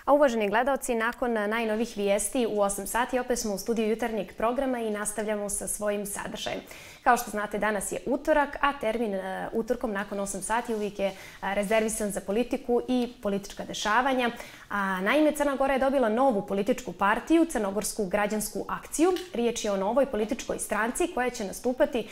A uvaženi gledalci, nakon najnovih vijesti u 8 sati opet smo u studiju jutarnjeg programa i nastavljamo sa svojim sadržajem. Kao što znate, danas je utorak, a termin utorkom nakon 8 sati uvijek je rezervisan za politiku i politička dešavanja. Naime, Crna Gora je dobila novu političku partiju, Crnogorsku građansku akciju. Riječ je o novoj političkoj stranci koja će nastupati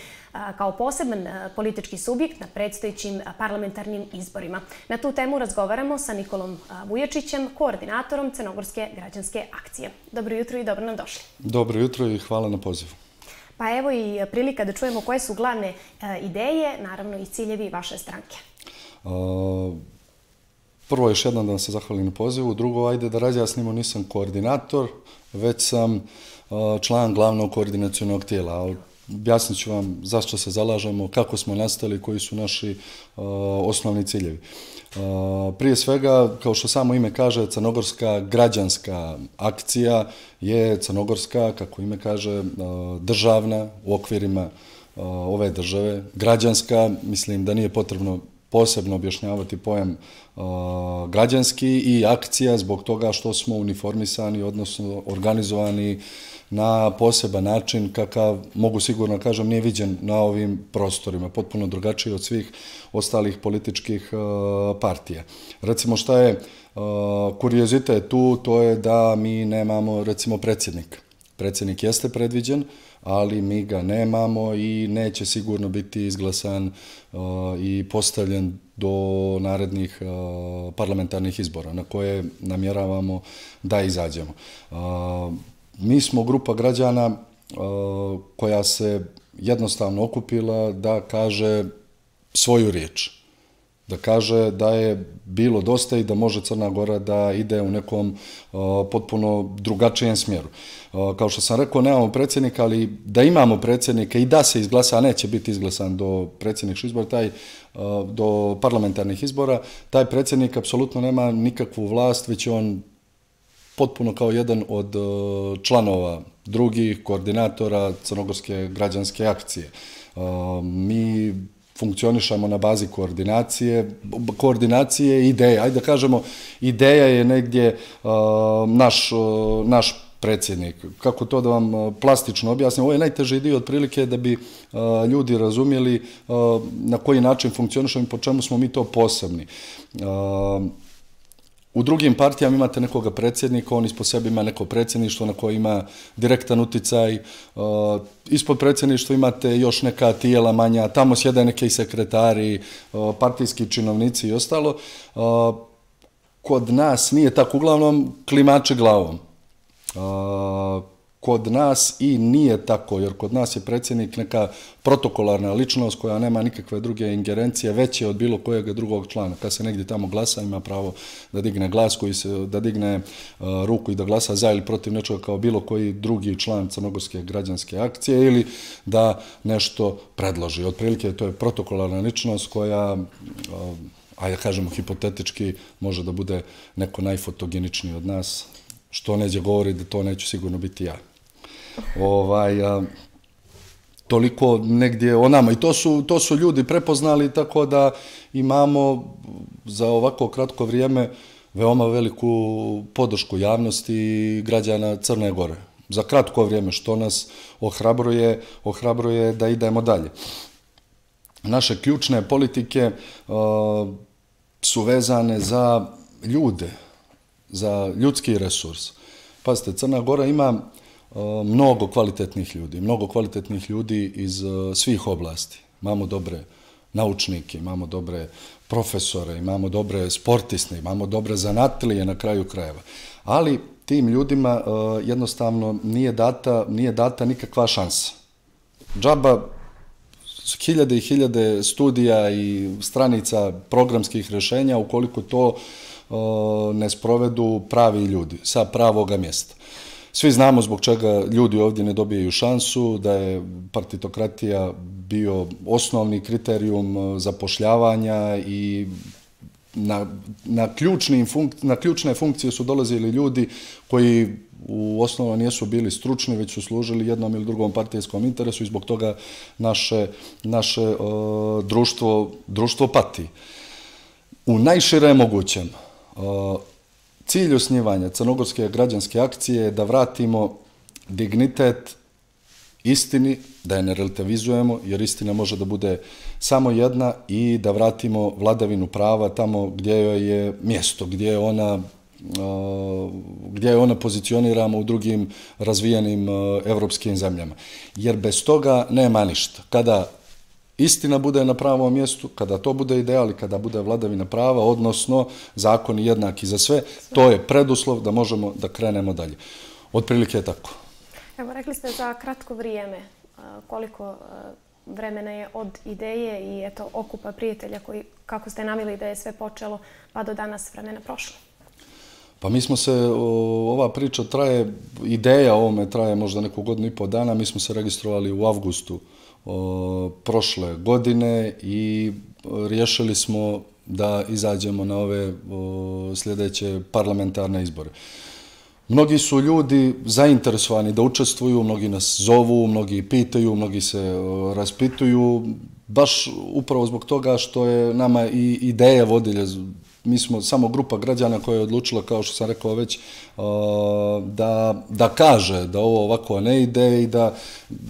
kao poseban politički subjekt na predstojećim parlamentarnim izborima. Na tu temu razgovaramo sa Nikolom Vujačićem, koordinatorom Crnogorske građanske akcije. Dobro jutro i dobro nam došli. Dobro jutro i hvala na pozivu. Pa evo i prilika da čujemo koje su glavne ideje, naravno i ciljevi vaše stranke. Prvo još jednom da vam se zahvalim na pozivu. Drugo, ajde da razjasnimo, nisam koordinator, već sam član glavnog koordinacionog tijela. Objasnit ću vam zašto se zalažemo, kako smo nastali, koji su naši osnovni ciljevi. Prije svega, kao što samo ime kaže, Crnogorska građanska akcija je crnogorska, kako ime kaže, državna u okvirima ove države. Građanska, mislim da nije potrebno posebno objašnjavati pojam građanski, i akcija zbog toga što smo uniformisani, odnosno organizovani na poseban način kakav, mogu sigurno kažem, nije viđen na ovim prostorima, potpuno drugačiji od svih ostalih političkih partija. Recimo, šta je kuriozitet tu, to je da mi nemamo, recimo, predsjednika. Predsjednik jeste predviđen, ali mi ga nemamo i neće sigurno biti izglasan i postavljen do narednih parlamentarnih izbora na koje namjeravamo da izađemo. Mi smo grupa građana koja se jednostavno okupila da kaže svoju riječ. Da kaže da je bilo dosta i da može Crna Gora da ide u nekom potpuno drugačijem smjeru. Kao što sam rekao, nemamo predsjednika, ali da imamo predsjednika i da se izglasa, a neće biti izglasan do predsjedničkih izbora, do parlamentarnih izbora, taj predsjednik apsolutno nema nikakvu vlast, već je on potpuno kao jedan od članova drugih koordinatora Crnogorske građanske akcije. Mi funkcionišamo na bazi koordinacije i ideje. Ajde da kažemo, ideja je negdje naš predsjednik. Kako to da vam plastično objasnim? Ovo je najteži dio otprilike da bi ljudi razumjeli na koji način funkcionišemo i po čemu smo mi to posebni. U drugim partijama imate nekoga predsjednika, on ispod sebe ima neko predsjedništvo na koje ima direktan uticaj. Ispod predsjedništva imate još neka tijela manja, tamo sjede neki sekretari, partijski činovnici i ostalo. Kod nas nije tako, uglavnom klimači glavom. Kod nas i nije tako, jer kod nas je predsjednik neka protokolarna ličnost koja nema nikakve druge ingerencije, veće od bilo kojeg drugog člana. Kad se negdje tamo glasa, ima pravo da digne glas, da digne ruku i da glasa za ili protiv nečega kao bilo koji drugi član Crnogorske građanske akcije ili da nešto predloži. Otprilike to je protokolarna ličnost koja, ajde kažemo hipotetički, može da bude neko najfotogeničniji od nas, što neđe govori da to neću sigurno biti ja. Toliko negdje o nama. I to su ljudi prepoznali, tako da imamo za ovako kratko vrijeme veoma veliku podršku javnosti građana Crne Gore. Za kratko vrijeme, što nas ohrabruje da idemo dalje. Naše ključne politike su vezane za ljude, za ljudski resurs. Pazite, Crna Gora ima mnogo kvalitetnih ljudi iz svih oblasti. Imamo dobre naučnike, imamo dobre profesore, imamo dobre sportiste, imamo dobre zanatlije na kraju krajeva. Ali tim ljudima jednostavno nije data nikakva šansa. Džaba hiljade i hiljade studija i stranica programskih rješenja ukoliko to ne sprovedu pravi ljudi sa pravoga mjesta. Svi znamo zbog čega ljudi ovdje ne dobijaju šansu, da je partitokratija bio osnovni kriterijum zapošljavanja i na ključne funkcije su dolazili ljudi koji u osnovu nisu bili stručni, već su služili jednom ili drugom partijskom interesu i zbog toga naše društvo pati. U najširem mogućem Cilj osnivanja Crnogorske građanske akcije je da vratimo dignitet istini, da je ne relativizujemo, jer istina može da bude samo jedna, i da vratimo vladavinu prava tamo gdje joj je mjesto, gdje je ona pozicioniramo u drugim razvijenim evropskim zemljama. Jer bez toga nema ništa. Kada istina bude na pravom mjestu, kada to bude ideal i kada bude vladavina prava, odnosno zakoni jednaki za sve, to je preduslov da možemo da krenemo dalje. Otprilike je tako. Evo, rekli ste za kratko vrijeme. Koliko vremena je od ideje i okupa prijatelja koji, kako ste naveli da je sve počelo, pa do danas vremena prošlo? Pa mi smo se, ova priča traje, ideja o ovome traje možda neku godinu i pol dana. Mi smo se registrovali u avgustu prošle godine i riješili smo da izađemo na ove sljedeće parlamentarne izbore. Mnogi su ljudi zainteresovani da učestvuju, mnogi nas zovu, mnogi pitaju, mnogi se raspituju, baš upravo zbog toga što je nama i ideja vodilja. Mi smo samo grupa građana koja je odlučila, kao što sam rekao već, da kaže da ovo ovako ne ide i da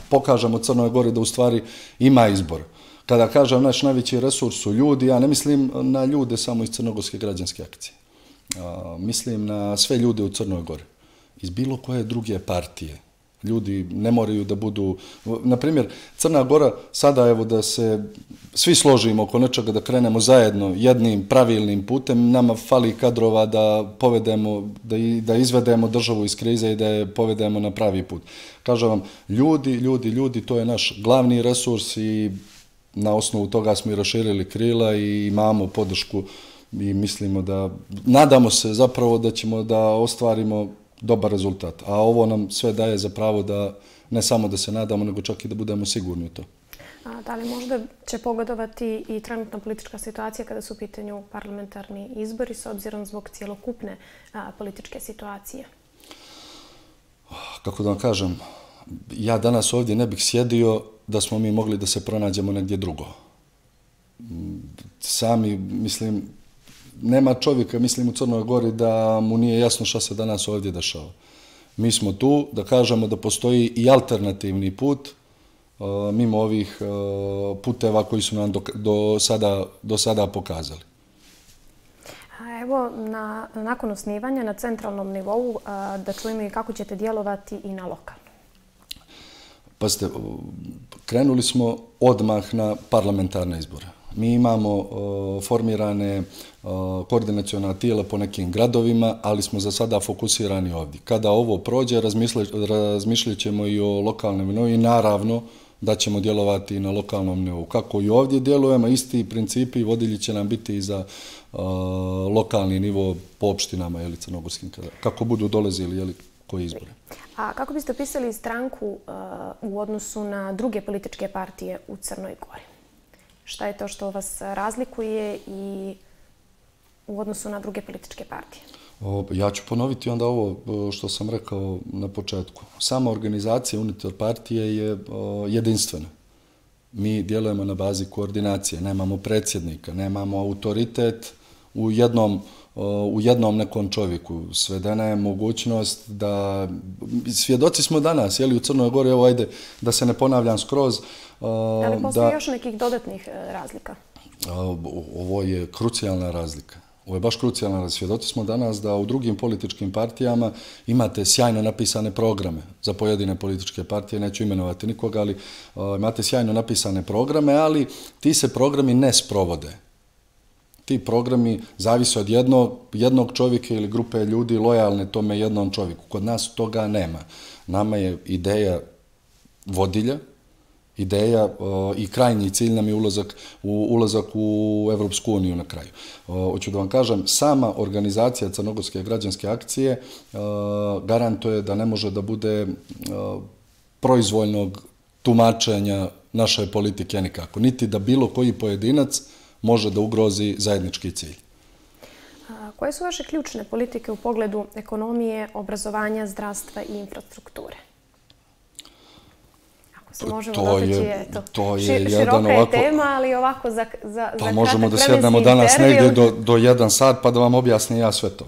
pokažemo Crnoj Gori da u stvari ima izbor. Kada kažem naš najveći resurs su ljudi, ja ne mislim na ljude samo iz Crnogorske građanske akcije. Mislim na sve ljude u Crnoj Gori, iz bilo koje druge partije. Ljudi ne moraju da budu, na primjer, Crna Gora, sada evo da se svi složimo oko nečega, da krenemo zajedno jednim pravilnim putem, nama fali kadrova da povedemo, da izvedemo državu iz krize i da je povedemo na pravi put. Kažem vam, ljudi, to je naš glavni resurs i na osnovu toga smo i raširili krila i imamo podršku i mislimo da, nadamo se zapravo da ćemo da ostvarimo dobar rezultat. A ovo nam sve daje za pravo da ne samo da se nadamo, nego čak i da budemo sigurni u to. Da li možda će pogodovati i trenutna politička situacija kada su u pitanju parlamentarni izbori s obzirom zbog cjelokupne političke situacije? Kako da vam kažem, ja danas ovdje ne bih sjedio da smo mi mogli da se pronađemo negdje drugo. Sami, mislim, nema čovjeka, mislim, u Crnoj Gori da mu nije jasno šta se danas ovdje dešava. Mi smo tu da kažemo da postoji i alternativni put mimo ovih puteva koji su nam do sada pokazali. Evo, nakon osnivanja na centralnom nivou, da čujemo i kako ćete djelovati i na lokalnom. Pazite, krenuli smo odmah na parlamentarne izbore. Mi imamo formirane koordinaciona tijela po nekim gradovima, ali smo za sada fokusirani ovdje. Kada ovo prođe, razmišljat ćemo i o lokalnom nivou i naravno da ćemo djelovati i na lokalnom nivou. Kako i ovdje djelujemo, isti principi vodilji će nam biti i za lokalni nivo po opštinama ili crnogorskim, kako budu dolazili koji izbore. A kako biste opisali stranku u odnosu na druge političke partije u Crnoj Gori? Šta je to što vas razlikuje i u odnosu na druge političke partije? Ja ću ponoviti onda ovo što sam rekao na početku. Sama organizacija unutar partije je jedinstvena. Mi djelujemo na bazi koordinacije, nemamo predsjednika, nemamo autoritet u jednom nekom čovjeku. Svedena je mogućnost da, svjedoci smo danas, u Crnoj Gori, evo ajde da se ne ponavljam skroz. Da li postoji još nekih dodatnih razlika? Ovo je krucijalna razlika. Ovo je baš krucijalna razlika. Svjedoci smo danas da u drugim političkim partijama imate sjajno napisane programe za pojedine političke partije, neću imenovati nikoga, ali imate sjajno napisane programe, ali ti se programi ne sprovode. Ti programi zavise od jednog čovjeka ili grupe ljudi lojalne tome jednom čovjeku. Kod nas toga nema. Nama je ideja vodilja, ideja i krajnji cilj nam je ulazak u Evropsku uniju na kraju. Hoću da vam kažem, sama organizacija Crnogorske građanske akcije garantuje da ne može da bude proizvoljnog tumačenja naše politike nikako. Niti da bilo koji pojedinac može da ugrozi zajednički cilj. Koje su vaše ključne politike u pogledu ekonomije, obrazovanja, zdravstva i infrastrukture? Ako se možemo dotaći, široka je tema, ali ovako za kratak vremenski intervju. Pa možemo da sjednemo danas negdje do 1 sat pa da vam objasnim ja sve to.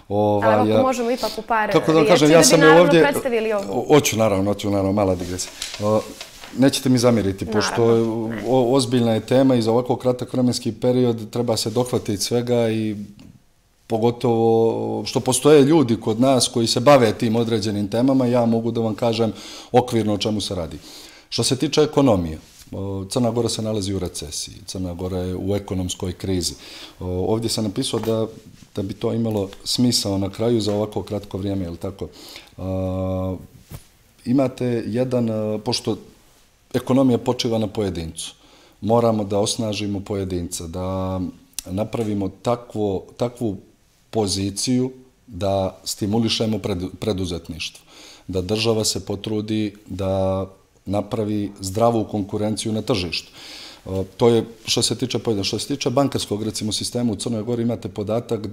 Ali ako možemo ipak u par kako da riječi, kažem, da bi naravno predstavili ovu. Hoću naravno, mala digresija. Nećete mi zamjeriti, pošto ozbiljna je tema i za ovako kratak vremenski period treba se dohvatiti svega i pogotovo što postoje ljudi kod nas koji se bave tim određenim temama, ja mogu da vam kažem okvirno o čemu se radi. Što se tiče ekonomije, Crna Gora se nalazi u recesiji, Crna Gora je u ekonomskoj krizi. Ovdje sam napisao da bi to imalo smisao na kraju za ovako kratko vrijeme, je li tako? Imate pošto ekonomija počiva na pojedincu, moramo da osnažimo pojedinca, da napravimo takvu poziciju da stimulišemo preduzetništvo, da država se potrudi da napravi zdravu konkurenciju na tržištu. To je što se tiče pojedinca. Što se tiče bankarskog, recimo, sistema u Crnoj Gori, imate podatak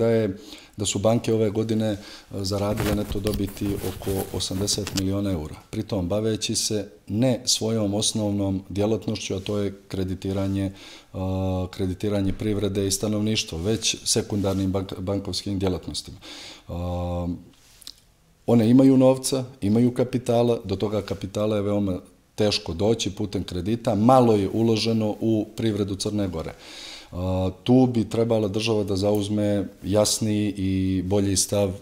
da su banke ove godine zaradile neto dobiti oko 80 miliona eura. Pritom, baveći se ne svojom osnovnom djelatnošću, a to je kreditiranje privrede i stanovništva, već sekundarnim bankovskim djelatnostima. One imaju novca, imaju kapitala, do toga kapitala je veoma teško doći putem kredita, malo je uloženo u privredu Crne Gore. Tu bi trebala država da zauzme jasniji i bolji stav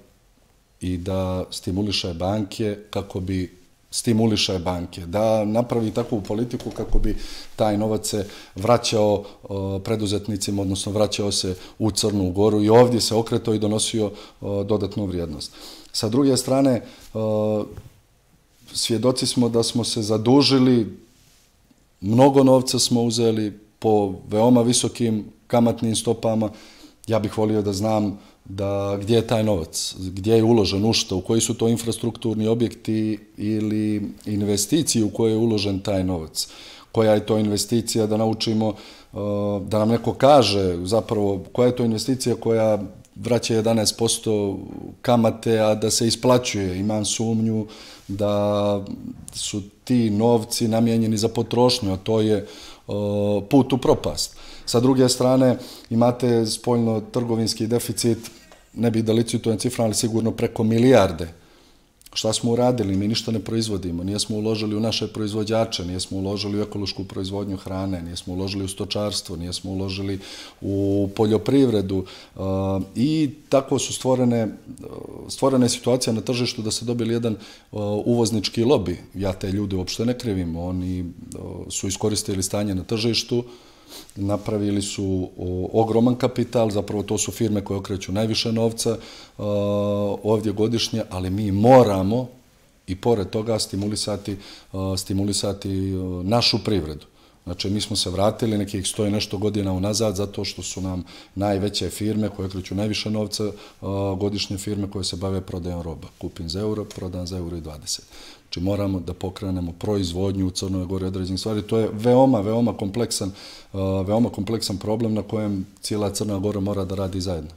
i da stimuliše banke, da napravi takvu politiku kako bi taj novac se vraćao preduzetnicima, odnosno vraćao se u Crnu Goru i ovdje se okretao i donosio dodatnu vrijednost. Sa druge strane, svjedoci smo da smo se zadužili, mnogo novca smo uzeli po veoma visokim kamatnim stopama. Ja bih volio da znam gdje je taj novac, gdje je uložen, u što, u koji su to infrastrukturni objekti ili investicije u koje je uložen taj novac. Koja je to investicija, da naučimo, da nam neko kaže zapravo koja je to investicija koja vraća 11% kamate, a da se isplaćuje. Imam sumnju da su ti novci namijenjeni za potrošnju, a to je put u propast. Sa druge strane, imate spoljno-trgovinski deficit, ne bih da licitujem ciframa, ali sigurno preko milijarde. Šta smo uradili? Mi ništa ne proizvodimo, nijesmo uložili u naše proizvođače, nijesmo uložili u ekološku proizvodnju hrane, nijesmo uložili u stočarstvo, nijesmo uložili u poljoprivredu i tako su stvorene situacije na tržištu da se dobili jedan uvoznički lobi. Ja te ljude uopšte ne krivim, oni su iskoristili stanje na tržištu, napravili su ogroman kapital, zapravo to su firme koje okreću najviše novca ovdje godišnje, ali mi moramo i pored toga stimulisati našu privredu. Znači, mi smo se vratili nekih 100 i nešto godina unazad zato što su nam najveće firme koje okreću najviše novca, godišnje firme koje se bave prodajom roba. Kupim za euro, prodam za euro i 20. Znači, moramo da pokrenemo proizvodnju u Crnoj Gori određenih stvari. To je veoma kompleksan problem na kojem cijela Crna Gora mora da radi zajedno.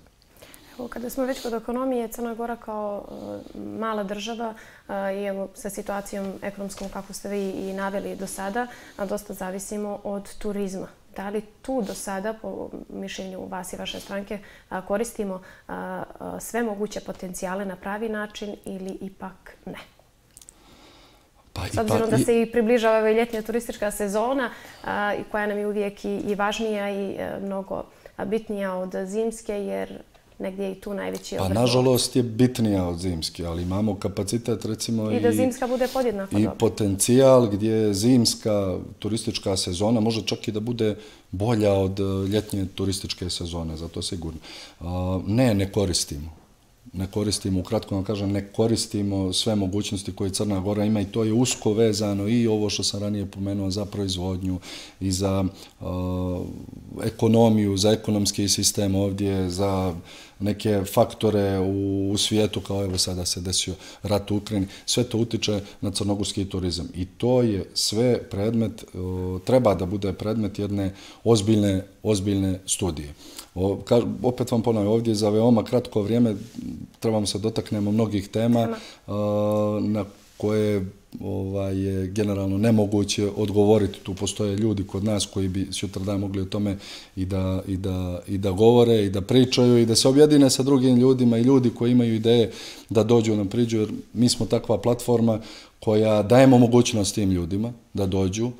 Kada smo već kod ekonomije, Crna Gora kao mala država i evo sa situacijom ekonomskom kako ste vi i naveli do sada, dosta zavisimo od turizma. Da li tu do sada, po mišljenju vas i vaše stranke, koristimo sve moguće potencijale na pravi način ili ipak ne? S obzirom da se i približava ljetnja turistička sezona koja nam je uvijek i važnija i mnogo bitnija od zimske, jer negdje je i tu najveći obrad. Nažalost je bitnija od zimske, ali imamo kapacitet recimo i da zimska bude podjednako dobra. I potencijal gdje zimska turistička sezona može čak i da bude bolja od ljetnje turističke sezone, zato sigurno. Ne koristimo. Ne koristimo, ukratko vam kažem, ne koristimo sve mogućnosti koje Crna Gora ima i to je usko vezano i ovo što sam ranije pomenuo za proizvodnju i za ekonomiju, za ekonomski sistem ovdje, za neke faktore u svijetu, kao evo sada se desio rat u Ukrajini. Sve to utiče na crnogorski turizam i to je sve predmet, treba da bude predmet jedne ozbiljne studije. Opet vam ponavljam, ovdje za veoma kratko vrijeme trebamo se dotaknemo mnogih tema na koje je generalno nemoguće odgovoriti. Tu postoje ljudi kod nas koji bi sutradan mogli o tome i da govore, i da pričaju, i da se objedine sa drugim ljudima, i ljudi koji imaju ideje da dođu nam priđu, jer mi smo takva platforma koja dajemo mogućnost tim ljudima da dođu,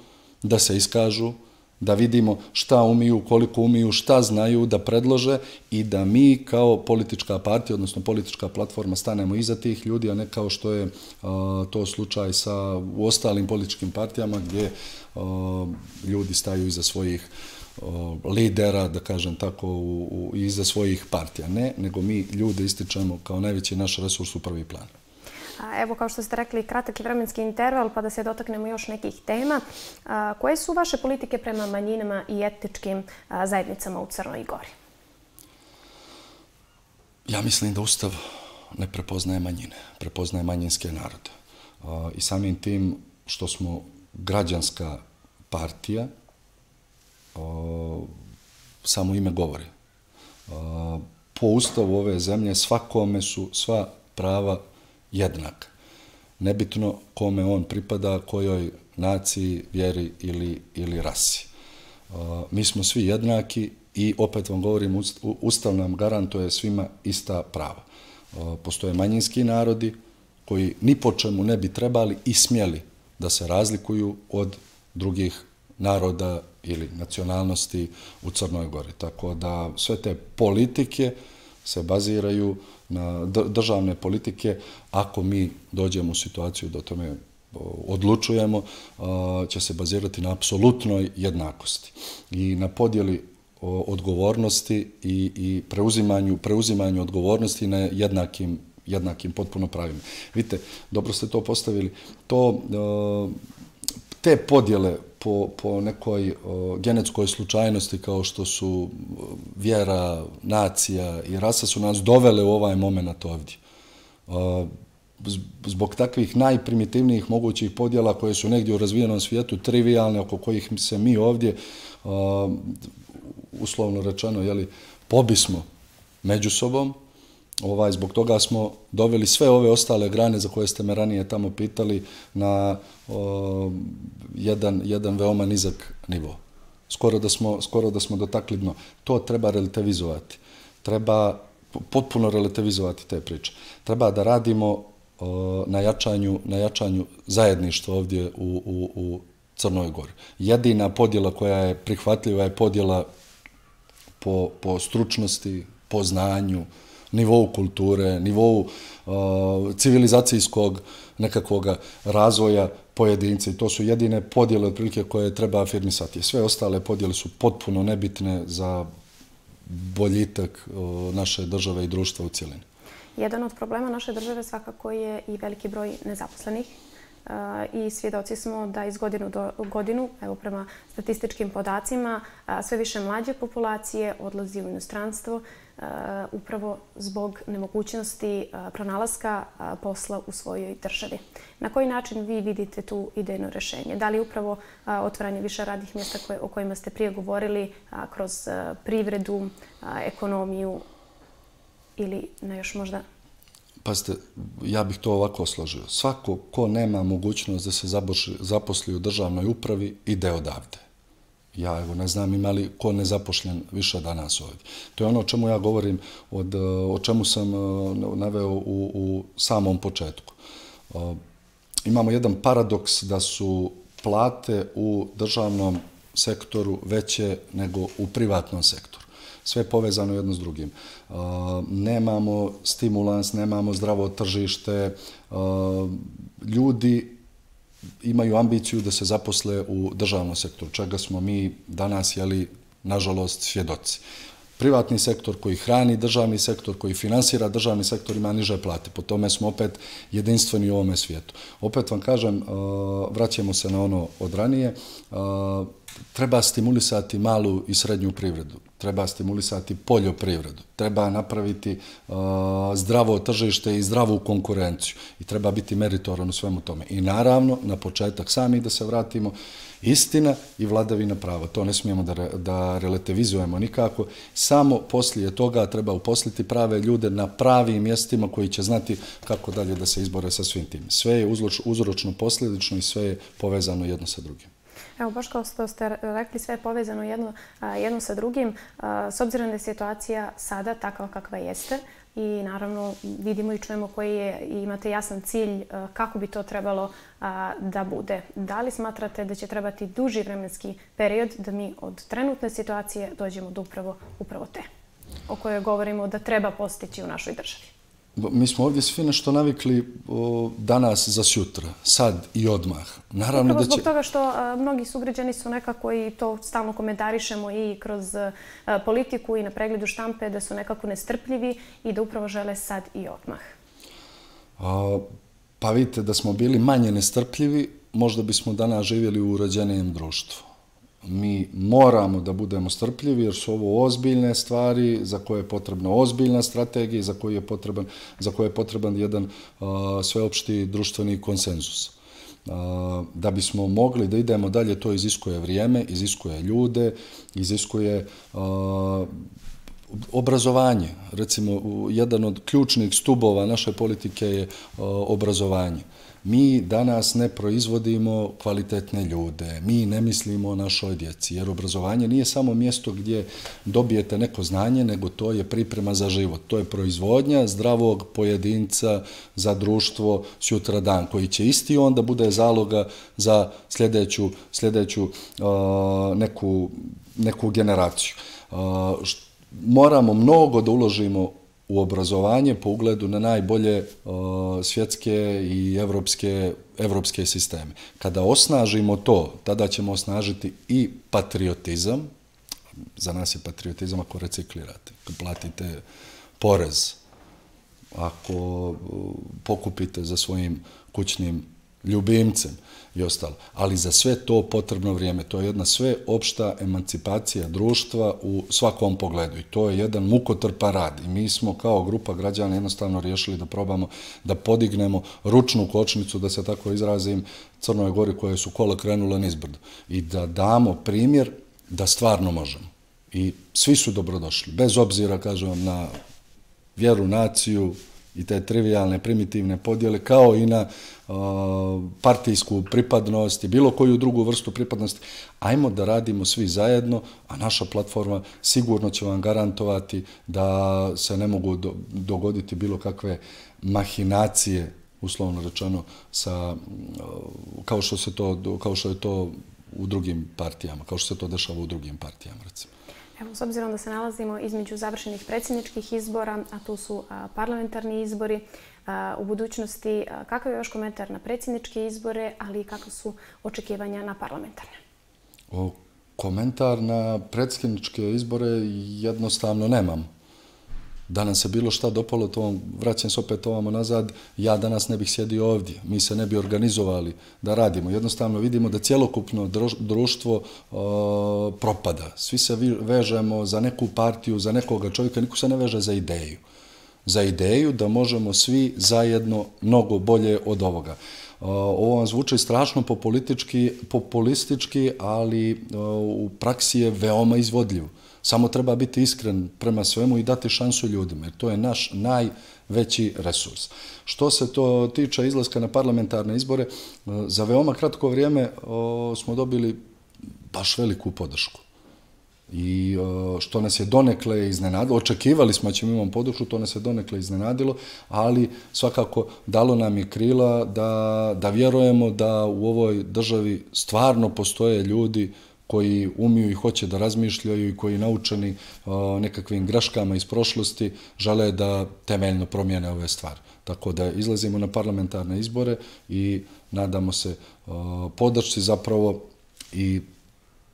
da se iskažu, da vidimo šta umiju, koliko umiju, šta znaju, da predlože i da mi kao politička partija, odnosno politička platforma, stanemo iza tih ljudi, a ne kao što je to slučaj u ostalim političkim partijama gdje ljudi staju iza svojih lidera, da kažem tako, iza svojih partija. Ne, nego mi ljude ističemo kao najveći naš resurs u prvi plan. Evo, kao što ste rekli, kratak je vremenski interval, pa da se dotaknemo još nekih tema. Koje su vaše politike prema manjinama i etničkim zajednicama u Crnoj Gori? Ja mislim da Ustav ne prepoznaje manjine, prepoznaje manjinske narode. I samim tim što smo građanska partija, samo ime govori. Po Ustavu ove zemlje svakome su sva prava jednak. Nebitno kome on pripada, kojoj naciji, vjeri ili rasi. Mi smo svi jednaki i opet vam govorim, Ustav nam garantuje svima ista prava. Postoje manjinski narodi koji ni po čemu ne bi trebali i smjeli da se razlikuju od drugih naroda ili nacionalnosti u Crnoj Gori. Tako da sve te politike se baziraju na državne politike. Ako mi dođemo u situaciju da o tome odlučujemo, će se bazirati na apsolutnoj jednakosti i na podjeli odgovornosti i preuzimanju odgovornosti na jednakim potpuno pravima. Vidite, dobro ste to postavili. Te podjele po nekoj genetskoj slučajnosti kao što su vjera, nacija i rasa su nas dovele u ovaj moment ovdje. Zbog takvih najprimitivnijih mogućih podjela koje su negdje u razvijenom svijetu trivijalne, oko kojih se mi ovdje, uslovno rečeno, pobismo među sobom. Zbog toga smo doveli sve ove ostale grane za koje ste me ranije tamo pitali na jedan veoma nizak nivo. Skoro da smo dotakli dno. To treba relativizovati. Treba potpuno relativizovati te priče. Treba da radimo na jačanju zajedništva ovdje u Crnoj Gori. Jedina podjela koja je prihvatljiva je podjela po stručnosti, po znanju, nivou kulture, nivou civilizacijskog nekakvog razvoja pojedinca. I to su jedine podjele otprilike koje treba afirmisati. Sve ostale podjele su potpuno nebitne za boljitak naše države i društva u cjelini. Jedan od problema naše države svakako je i veliki broj nezaposlenih. I svjedoci smo da iz godine u godinu, evo prema statističkim podacima, sve više mlađe populacije odlazi u inostranstvo upravo zbog nemogućnosti pronalaska posla u svojoj državi. Na koji način vi vidite tu idejno rješenje? Da li upravo otvaranje više radnih mjesta o kojima ste prije govorili kroz privredu, ekonomiju ili na još možda... Pazite, ja bih to ovako složio. Svako ko nema mogućnost da se zaposli u državnoj upravi, ide odavde. Ja evo ne znam ima li ko nezapošljen više danas ovdje. To je ono o čemu ja govorim, o čemu sam naveo u samom početku. Imamo jedan paradoks da su plate u državnom sektoru veće nego u privatnom sektoru. Sve je povezano jedno s drugim. Nemamo stimulans, nemamo zdravo tržište. Ljudi imaju ambiciju da se zaposle u državnom sektoru, čega smo mi danas, nažalost, svjedoci. Privatni sektor koji hrani državni sektor, koji finansira državni sektor ima niže plate. Po tome smo opet jedinstveni u ovome svijetu. Opet vam kažem, vraćamo se na ono od ranije. treba stimulisati malu i srednju privredu, treba stimulisati poljoprivredu, treba napraviti zdravo tržište i zdravu konkurenciju i treba biti meritoran u svemu tome. I naravno, na početak sami da se vratimo, istina i vladavina prava. To ne smijemo da relativizujemo nikako. Samo poslije toga treba uposliti prave ljude na pravim mjestima koji će znati kako dalje da se izbore sa svim tim. Sve je uzročno posljedično i sve je povezano jedno sa drugim. Evo, baš kao što ste rekli, sve je povezano jedno sa drugim. S obzirom da je situacija sada takva kakva jeste i naravno vidimo i čujemo koji je i imate jasan cilj kako bi to trebalo da bude. Da li smatrate da će trebati duži vremenski period da mi od trenutne situacije dođemo do upravo te o kojoj govorimo da treba postići u našoj državi? Mi smo ovdje svi nešto navikli danas za sutra, sad i odmah. Naravno da će... Zbog toga što mnogi sugrađani su nekako, i to stalno komentarišemo i kroz politiku i na pregledu štampe, da su nekako nestrpljivi i da upravo žele sad i odmah. Pa vidite, da smo bili manje nestrpljivi, možda bismo danas živjeli u uređenijem društvu. Mi moramo da budemo strpljivi jer su ovo ozbiljne stvari za koje je potrebna ozbiljna strategija i za koje je potreban jedan sveopšti društveni konsenzus. Da bismo mogli da idemo dalje, to iziskuje vrijeme, iziskuje ljude, iziskuje obrazovanje. Recimo, jedan od ključnih stubova naše politike je obrazovanje. Mi danas ne proizvodimo kvalitetne ljude, mi ne mislimo o našoj djeci, jer obrazovanje nije samo mjesto gdje dobijete neko znanje, nego to je priprema za život. To je proizvodnja zdravog pojedinca za društvo sutradan, koji će isti onda bude zaloga za sljedeću neku generaciju. Moramo mnogo da uložimo u obrazovanje po ugledu na najbolje svjetske i evropske sisteme. Kada osnažimo to, tada ćemo osnažiti i patriotizam. Za nas je patriotizam ako reciklirate, ako platite porez, ako pokupite za svojim kućnim ljubimcem i ostalo. Ali za sve to potrebno vrijeme. To je jedna sveopšta emancipacija društva u svakom pogledu. I to je jedan mukotrpan rad. I mi smo kao grupa građana jednostavno riješili da probamo da podignemo ručnu kočnicu, da se tako izrazim, Crnoj Gori koje su kola krenule nizbrdo. I da damo primjer da stvarno možemo. I svi su dobrodošli. Bez obzira, kažem, na vjeru, naciju i te trivialne, primitivne podjele, kao i na partijsku pripadnost i bilo koju drugu vrstu pripadnosti. Ajmo da radimo svi zajedno, a naša platforma sigurno će vam garantovati da se ne mogu dogoditi bilo kakve mahinacije, uslovno rečeno, kao što je to u drugim partijama, kao što se to dešava u drugim partijama, recimo. Evo, s obzirom da se nalazimo između završenih predsjedničkih izbora, a tu su parlamentarni izbori, u budućnosti, kakav je vaš komentar na predsjedničke izbore, ali i kakva su očekivanja na parlamentarne? Komentar na predsjedničke izbore jednostavno nemam. Da nam se bilo šta dopalo, vraćam se opet ovamo nazad, ja danas ne bih sjedio ovdje, mi se ne bi organizovali da radimo. Jednostavno vidimo da cjelokupno društvo propada. Svi se vežemo za neku partiju, za nekoga čovjeka, niko se ne veže za ideju. Za ideju da možemo svi zajedno mnogo bolje od ovoga. Ovo vam zvuči strašno populistički, ali u praksi je veoma izvodljivo. Samo treba biti iskren prema svemu i dati šansu ljudima, jer to je naš najveći resurs. Što se to tiče izlaska na parlamentarne izbore, za veoma kratko vrijeme smo dobili baš veliku podršku. I što nas je donekle iznenadilo, očekivali smo da ćemo imati podršku, to nas je donekle iznenadilo, ali svakako dalo nam je krila da vjerujemo da u ovoj državi stvarno postoje ljudi koji umiju i hoće da razmišljaju i koji naučeni nekakvim greškama iz prošlosti žele da temeljno promijene ove stvari. Tako da izlazimo na parlamentarne izbore i nadamo se podršci zapravo i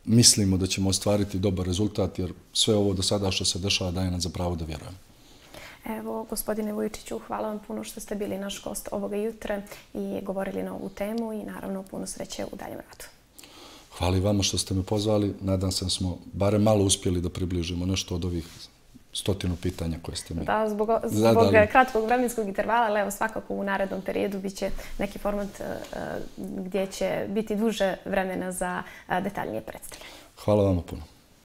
mislimo da ćemo ostvariti dobar rezultat jer sve ovo do sada što se dešava daje nam za pravo da vjerujemo. Evo, gospodine Vujičiću, hvala vam puno što ste bili naš gost ovoga jutra i govorili na ovu temu i naravno puno sreće u daljem radu. hvala i vama što ste me pozvali. Nadam se da smo barem malo uspjeli da približimo nešto od ovih 100 pitanja koje ste mi da, zbog kratkog vremenskog intervala, ali evo svakako u narednom periodu bit će neki format gdje će biti duže vremena za detaljnije predstavljanje. Hvala vama puno.